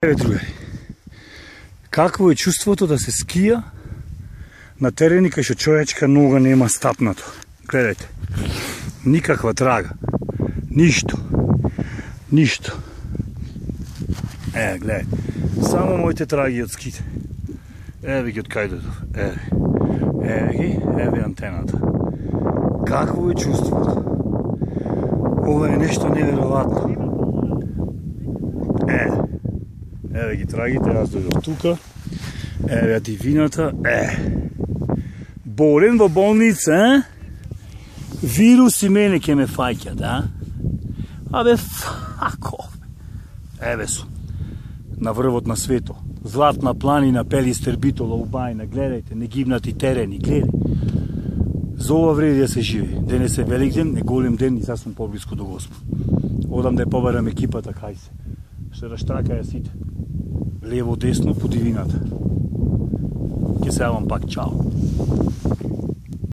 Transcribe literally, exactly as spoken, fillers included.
Еве, другари, какво е чувството да се скија на терени кај што човечка нога нема стапнато? Гледајте, никаква трага, ништо, ништо. Е, гледајте, само моите траги од ските. Еве ги од кај додов, еве, еве ги, еве антената. Какво е чувството? Ова е нешто неверојатно. Е, еве ги трагите, јас дојдов тука, еве дивината, е. Болен во болница, е? Вирус и мене ке ме фаќат, а? Абе, фако. Еве сум, на врвот на свето. Златна планина, Пелистер, Битола, Убајна, гледајте, негибнати терени, гледај. За ова вреди да се живе. Денес е велик ден, не голем ден и сега сум поблиску до Господ. Одам да ја побарам екипата, кај се. Ще раштракаја сите. Лево, десно, по дивината. Ке се јавам пак, чао.